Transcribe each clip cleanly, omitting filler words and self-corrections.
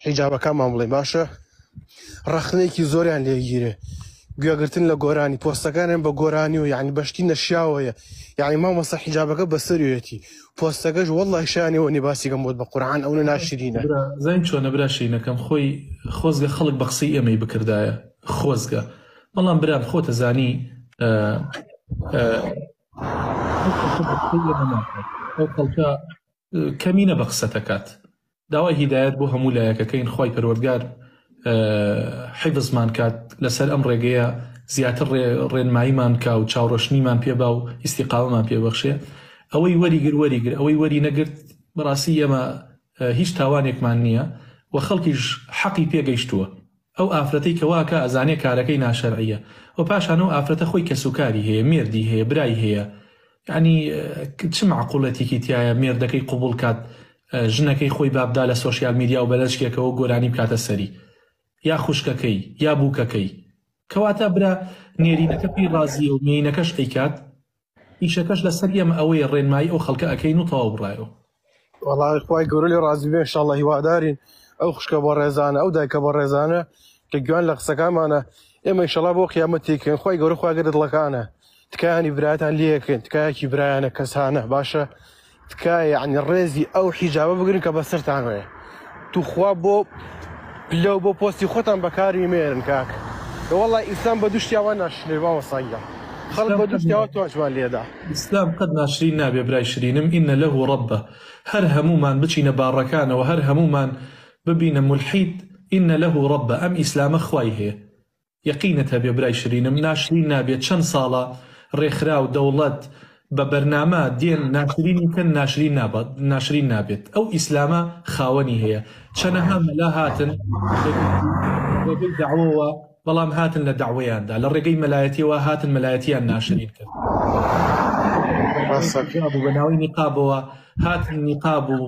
حیجابەکانمان بڵێین باشە ڕەخنەیەکی زۆریان لێگیرێ گوێگرتن لە گۆرانی پۆستەکانیان بە گۆرانی و یعنی بەشتی نەشیاوەیە یعنی مامۆستا حیجابەکە بەسەریەتی پۆستەکەش وەڵڵاهی شایانی ئەوە نیە باسی کەم بۆت بە قورعان ئەونە ناشرینە. برا زانی چۆنە برا شیرینەکەم خۆی خۆزگە خەڵک بە قسەی ئێمەی بکردایە خۆزگە بەڵام برام خۆتە زانی ئەو خەڵکە بە قسەی ئێمە ناکات ئەو خەڵکە کەمینە بە قسەتەکات داوای هیدایەت بۆ هەموو لایەکەکەین خوای پەروەردگار حیفزمان کات لەسەر ئەم ڕێگەیە زیاتر ڕێنماییمان کا و چاوڕەشنیمان پێ با و ئیستیقامەمان پێ بەخشێ ئەوەی وەریگر وەریگر ئەوەی وەری نەگرت بەڕاستی ئێمە هیچ تاوانێکمان نییە و خەڵکیش حەقی پێگەیشتووە ئەو ئافرەتەی کە واکا ئەزانێ کارەکەی ناشەرعیە وە پاشان ئەو ئافرەتە خۆی کەسوکاری هەیە مێردی هەیە برای هەیە یانی چ مەعقولەتێکی تیایە مێردەکەی قبوڵ کات ژنەکەی خۆی بابدا لە سۆشیال میدیا و بەلەچکێکەوە گۆرانی بکاتە سەری یا خوشکەکەی یا بووکەکەی کەواتە برا نێرینەکە پێی ڕازیە و مێینەکەش ئەیکات ئیشەکەش لەسەر ئێمە ئەوەیە ڕێنمایی ئەو خەڵکە ئەکەین و تەواو بڕایەوە. وەڵا خوای گەورە لێ ڕازی بێ انشاءاللە هیوادارین ئەو خوشکە بەڕێزانە ئەو دایکە بەڕێزانە کە گوێیان لە قسەکانمانە ئێمە انشاءاللە بۆ قیامەت تێکەین خوای گەورە خوای گەورە دڵەکانە تکایانی برایەتان لێکەین تکایەکی برایانە کەسانە باشە تکایە یعنی ڕێزی ئەو حیجابە بگرن کە بەسەرتانەوەیە توخوا بۆ پلە و بۆ پۆستی خۆتان بەکاری مێرن کاک وەڵا ئیسلام بە دوشتیاوە ناشرێ مامۆستا گیان خەڵک بە دوشتیاوە تۆشمان لێدا. ئیسلام قەت ناشرین نابێ برای شرینم ان له ربە هەر هەموومان بچینە باڕەکانەوە هەر هەموومان ببینە مولحید ان له ربە ئەم ئیسلامە خوای هەیە یەقینت هەبێ برای شرینم ناشرین نابێ چەند ساڵە ڕێکخراو دەوڵەت بە بەرنامە دێن ناشرینی کەن ناشرین نابات ناشرین نابێت ئەو ئیسلامە خاوەنی هەیە چەنەها مەلا هاتن لە ڕێگەی دەعوەوە بەڵام هاتن لە دەعوەیاندا لە ڕێگەی مەلایەتیەوە هاتن مەلایەتیان ناشرین کرد ڕاستە. بە ناوی نیقابەوە هاتن نیقاب و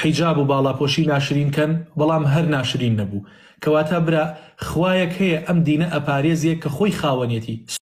حیجاب و باڵاپۆشی ناشرین کەن بەڵام هەر ناشرین نەبوو کەواتە برا خوایەک هەیە ئەم دینە ئەپارێزێ کە خۆی خاوەنێتی.